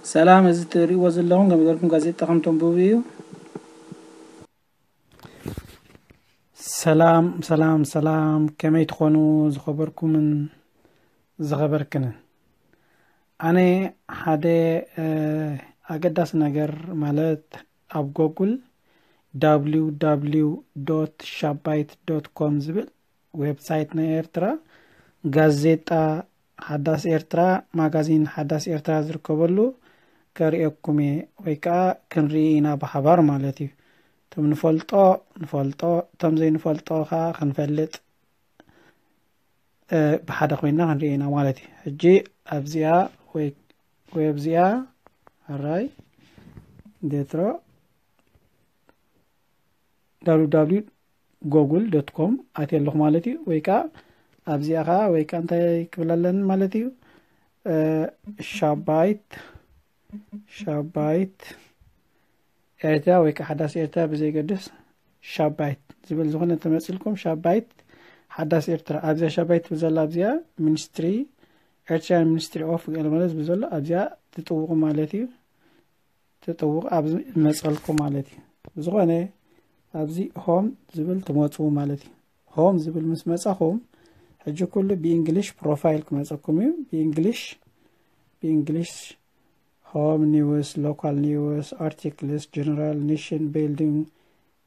ሰላም፣ እዚ እትርእይዎ ዘለኹም ከም ዝበልኩም ጋዜጣ ከም ተንብቡ እዩ። ሰላም ሰላም ሰላም፣ ከመይ ትኾኑ ዝኸበርኩምን ዝኸበርክንን? ኣነ ሓደ ኣገዳሲ ነገር ማለት ኣብ ጎጉል www ሻባይት ዶት ኮም ዝብል ዌብሳይት ናይ ኤርትራ፣ ጋዜጣ ሓዳስ ኤርትራ፣ ማጋዚን ሓዳስ ኤርትራ ዝርከበሉ ከርእየኩም እየ፣ ወይ ከዓ ክንርኢ ኢና ብሓባር ማለት እዩ። እቶም ንፈልጦ ንፈልጦ፣ እቶም ዘይንፈልጦ ከዓ ክንፈልጥ ብሓደ ኮይና ክንርኢ ኢና ማለት እዩ። ሕጂ ኣብዚኣ ወይ ወይ ኣብዚኣ ኣራይ ዴትሮ www ጎጉል ዶት ኮም ኣትየ ኣለኹ ማለት እዩ። ወይ ከዓ ኣብዚኣ ከዓ ወይ ከዓ እንታይ ክብል ኣለኒ ማለት እዩ፣ ሻባይት ሻባይት ኤርትራ ወይ ከዓ ሓዳስ ኤርትራ ብዘይገድስ ሻባይት ዝብል ዝኾነ ተመፅልኩም፣ ሻባይት ሓዳስ ኤርትራ ኣብዚኣ ሻባይት ትብል ዘላ ኣብዚኣ ሚኒስትሪ ኤርትራን ሚኒስትሪ ኦፍ ገለ ማለት ዝብል ዘሎ ኣብዚኣ ትጥውቑ ማለት እዩ። ትጥውቕ ኣብዚ መፀልኩም ማለት እዩ። ብዝኾነ ኣብዚ ሆም ዝብል ትመፅኡ ማለት እዩ። ሆም ዝብል ምስ መፃኹም ሕጂ ኩሉ ብእንግሊሽ ፕሮፋይል ክመፀኩም እዩ። ብእንግሊሽ ብእንግሊሽ ሆም ኒውስ፣ ሎካል ኒውስ፣ ኣርቲክልስ፣ ጀነራል፣ ኔሽን ቢልዲንግ፣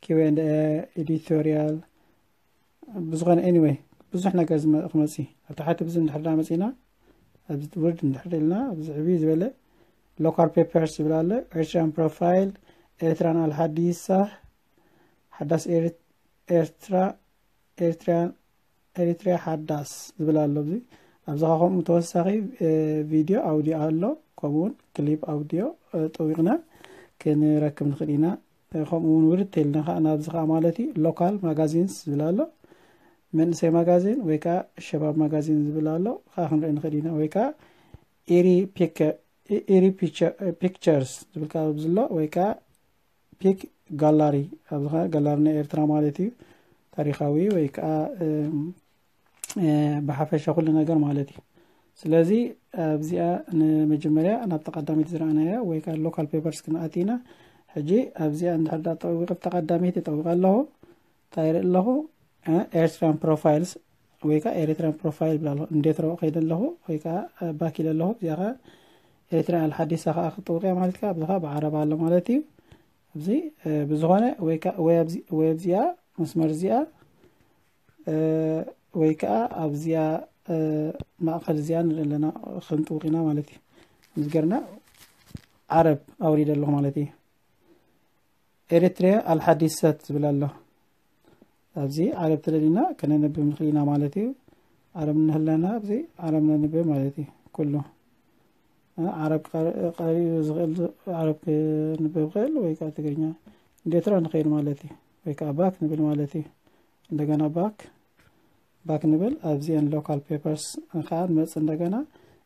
ኪው ኤንድ ኤ፣ ኤዲቶሪያል፣ ብዝኾነ ኤኒወይ ብዙሕ ነገር ዝመ- ክመፅእ እዩ። ኣብ ታሕቲ ብዚ እንድሕር ዳ መፂና ኣብዚ ውርድ እንድሕር ኢልና ኣብዚ ዕብይ ዝበለ ሎካል ፔፐርስ ዝብል ኣሎ። ኤርትራን ፕሮፋይል፣ ኤርትራን ኣልሓዲሳ፣ ሓዳስ ኤርትራ፣ ኤርትራን ኤሪትሪያ ሓዳስ ዝብል ኣሎ። ኣብዚ ኣብዚ ኸዓ ከምኡ ተወሳኺ ቪድዮ ኣውዲዮ ኣሎ፣ ከምኡውን ክሊፕ ኣውዲዮ ጠዊቕና ክንረክብ ንኽእል ኢና። ከምኡ እውን ውርድ ተልና ከዓ ናብዚ ከዓ ማለት እዩ ሎካል ማጋዚንስ ዝብል ኣሎ። መንእሰይ ማጋዚን ወይ ከዓ ሸባብ ማጋዚን ዝብል ኣሎ፣ ከዓ ክንርኢ ንኽእል ኢና። ወይ ከዓ ኢሪ ፒክቸርስ ዝብል ከዓ ኣብዚ ኣሎ፣ ወይ ከዓ ፒክ ጋላሪ፣ ኣብዚ ከዓ ጋላሪ ናይ ኤርትራ ማለት እዩ። ታሪኻዊ ወይ ከዓ ብሓፈሻ ኩሉ ነገር ማለት እዩ። ስለዚ ኣብዚኣ ንመጀመርያ ናብቲ ቀዳመይቲ ዝረኣናያ ወይ ከዓ ሎካል ፔፐርስ ክንኣቲ ኢና። ሕጂ ኣብዚኣ እንድሕር ዳ ጠዊቐ ኣብታ ቀዳመይቲ ጠዊቐ ኣለኹ። እንታይ ይርኢ ኣለኹ? ኤርትራን ፕሮፋይልስ ወይ ከዓ ኤሪትራን ፕሮፋይል ብላ ኣለኹ። እንዴት ረው ከይደ ኣለኹ ወይ ከዓ ባክ ኢለ ኣለኹ። እዚኣ ከዓ ኤሪትራን ኣልሓዲሳ ከዓ ክጥውቅያ ማለት ከዓ ኣብዚ ከዓ ብዓረብ ኣሎ ማለት እዩ። ኣብዚ ብዝኾነ ወይ ከዓ ወይ ኣብዚኣ መስመር እዚኣ ወይ ከዓ ኣብዚኣ ማእኸል እዚኣ ንርኢ ኣለና፣ ክንጥውቅ ኢና ማለት እዩ። እዚ ገርና ዓረብ ኣውሪደ ኣለኹ ማለት እዩ። ኤሪትሪያ ኣልሓዲሰት ዝብል ኣሎ። ኣብዚ ዓረብ ተደሊና ከነንብብ ንኽእል ኢና ማለት እዩ። ዓረብ እንህለና ኣብዚ ዓረብ ነንብብ ማለት እዩ። ኩሉ ዓረብ ቀሪኡ ዝኽእል ዓረብ ክንብብ ይኽእል ወይ ከዓ ትግርኛ እንዴትሮ ንኽእል ማለት እዩ። ወይ ከዓ ባክ ንብል ማለት እዩ። እንደገና ባክ ባክ ንብል ኣብዚአን ሎካል ፔፐርስ ከዓ ንመፅእ እንደገና።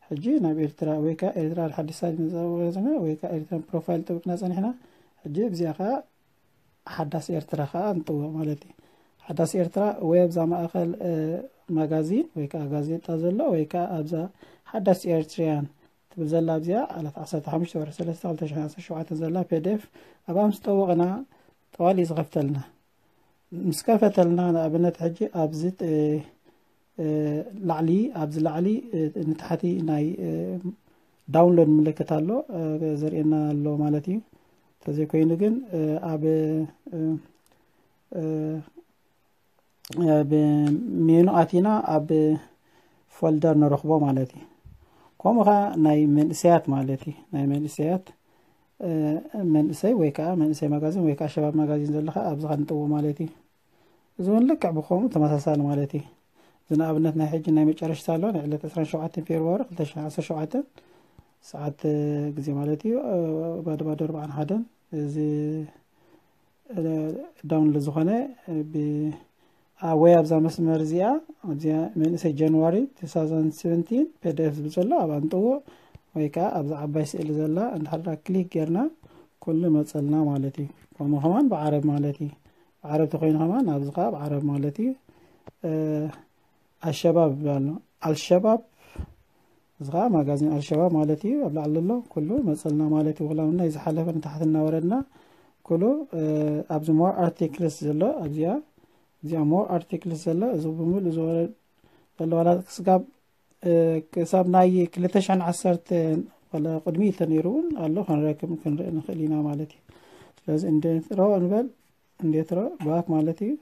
ሕጂ ናብ ኤርትራ ወይ ከዓ ኤርትራ ሓዲሳ ዝመፀወዝና ወይ ከዓ ኤርትራ ፕሮፋይል ጥብቅና ፀኒሕና። ሕጂ እዚኣ ከዓ ሓዳስ ኤርትራ ከዓ ንጥውቕ ማለት እዩ። ሓዳስ ኤርትራ ወይ ኣብዛ ማእኸል ማጋዚን ወይ ከዓ ጋዜጣ ዘሎ ወይ ከዓ ኣብዛ ሓዳስ ኤርትሪያን ትብል ዘላ ኣብዚኣ ዕለት ዓሰርተ ሓሙሽተ ወርሒ ሰለስተ ክልተ ሽሕን ዓሰርተ ሸውዓተን ዘላ ፔድኤፍ ኣብኣ ምስ ጠወቕና ጠዋሊ ዝኸፍተልና። ምስ ከፈተልና ንኣብነት ሕጂ ኣብዚ ላዕሊ ኣብዚ ላዕሊ ንታሕቲ ናይ ዳውንሎድ ምልክት ኣሎ ዘርእየና ኣሎ ማለት እዩ። እንተዘይኮይኑ ግን ኣብ ሜኑ ኣቲና ኣብ ፎልደር ንረኽቦ ማለት እዩ። ከምኡ ከዓ ናይ መንእሰያት ማለት እዩ። ናይ መንእሰያት መንእሰይ ወይ ከዓ መንእሰይ ማጋዚን ወይ ከዓ ሸባብ ማጋዚን ዘለካ ኣብዚ ክንጥዎ ማለት እዩ። እዚ እውን ልክዕ ብከምኡ ተመሳሳሊ ማለት እዩ። እዚ ንኣብነት ናይ ሕጂ ናይ መጨረሽታ ኣሎ ናይ ዕለት ዕስራን ሸውዓተን ፌብርዋሪ ክልተ ሽሕን ዓሰርተ ሸውዓተን ሰዓት ግዜ ማለት እዩ። ባዶ ባዶ ኣርባዓን ሓደን እዚ ዳውንሎድ ዝኾነ ወይ ኣብዛ መስመር እዚኣ ኣብዚኣ መንእሰይ ጃንዋሪ two thousand seventeen ፔድኤፍ ዝብል ዘሎ ኣብ ኣንጥዎ ወይ ከዓ ኣብዛ ዓባይ ስእሊ ዘላ እንድሕር ክሊክ ጌርና ኩሉ መፀልና ማለት እዩ። ከምኡ ከማን ብዓረብ ማለት እዩ። ብዓረብ ተኮይኑ ከማን ኣብዚ ከዓ ብዓረብ ማለት እዩ። ኣሸባብ ይብላሉ። ኣልሸባብ እዚ ከዓ ማጋዚን ኣልሸባብ ማለት እዩ። ኣብ ላዕሊ ዘሎ ኩሉ መፀልና ማለት እዩ። ክላምና ዝሓለፈ ንታሕቲ እናወረድና ኩሉ ኣብዚ more articles ዘሎ ኣብዚኣ እዚኣ more articles ዘሎ እዚ ብምሉእ ዝወረድ ዘለዋላ ክስጋብ ክሳብ ናይ ክልተ ሽሕን ዓሰርተ ቅድሚ ተነይሩ እውን ኣሎ ክንረክብ ክንርኢ ንኽእል ኢና ማለት እዩ። ስለዚ እንዴትሮ እንበል እንዴትሮ ባክ ማለት እዩ።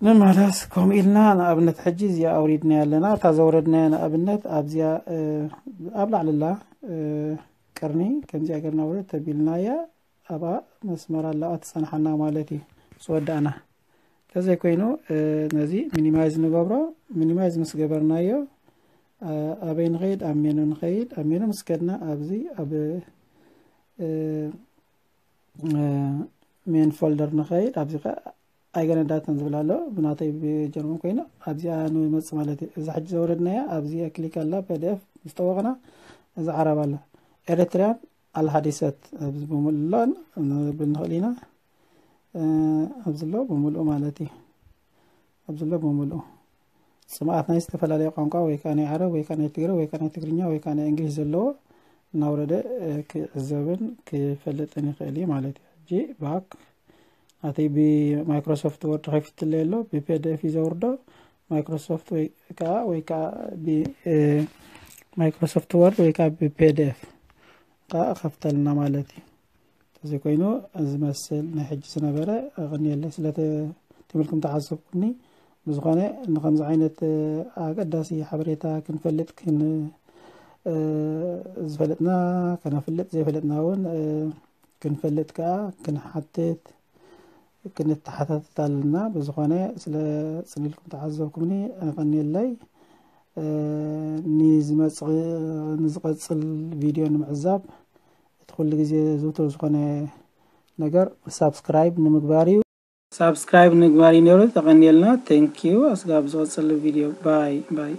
ንመለስ ከምኡ ኢልና ንኣብነት ሕጂ እዚኣ ኣውሪድና ኣለና። እታ ዘውረድናያ ንኣብነት ኣብዚኣ ኣብ ላዕልላ ቅርኒ ከምዚኣ ገርና ውረድ ተቢልናያ ኣብኣ መስመር ኣለኣ ትጸንሓና ማለት እዩ። ዝወዳእና ተዘይኮይኑ ነዚ ሚኒማይዝ ንገብሮ። ሚኒማይዝ ምስ ገበርናዮ ኣበይ ንኸይድ? ኣብ ሜኑ ንኸይድ። ኣብ ሜኑ ምስ ከድና ኣብዚ ኣብ ሜን ፎልደር ንኸይድ። ኣብዚ ኣይገነዳትን ዝብል ኣሎ ብናተይ ብጀርመን ኮይኑ ኣብዚኣ ንመፅ ማለት እዩ። እዚ ሕጂ ዘውረድናያ ኣብዚ ክሊክ ኣላ ፒዲኤፍ ዝጠወቕና እዚ ዓረብ ኣሎ ኤሪትሪያን ኣልሓዲሰት ኣብዚ ብምሉእ ንብል ንኽእል ኢና። ኣብዚ ኣሎ ብምሉኡ ማለት እዩ። ኣብዚ ኣሎ ብምሉኡ ፅምኣት ናይ ዝተፈላለየ ቋንቋ ወይ ከዓ ናይ ዓረብ ወይ ከዓ ናይ ትግረ ወይ ከዓ ናይ ትግርኛ ወይ ከዓ ናይ እንግሊዝ ዘለዎ እናውረደ ክዕዘብን ክፈልጥን ይኽእል እዩ ማለት እዩ። ሕጂ ባክ ናተይ ብማይክሮሶፍት ወርድ ከፊትለይ ኣሎ ብፒዲኤፍ እዩ ዘውርዶ። ማይክሮሶፍት ወይ ከዓ ወይ ከዓ ማይክሮሶፍት ወርድ ወይ ከዓ ብፒዲኤፍ ከዓ ከፍተልና ማለት እዩ። እዚ ኮይኑ ዝመስል ናይ ሕጂ ዝነበረ ኣቐንየለይ ስለ ትምህርኩም ተዓዘብኩኒ። ብዝኾነ ንከምዚ ዓይነት ኣገዳሲ ሓበሬታ ክንፈልጥ ዝፈለጥና ከነፍልጥ ዘይፈለጥና እውን ክንፈልጥ ከዓ ክንሓትት ክንተሓታተት ኣለና። ብዝኾነ ስለ ፅኒልኩም ተዓዘብኩምኒ ኣቐንየለይ። ንዝመፅ ንዝቐፅል ቪድዮ ንምዕዛብ እቲ ኩሉ ግዜ ዝውቱር ዝኾነ ነገር ሳብስክራይብ ንምግባር እዩ። ሳብስክራይብ ንምግባር እዩ ነይሩ። ተቐንየልና። Thank you። ኣስጋብ ዝቐፅል ቪድዮ ባይ ባይ።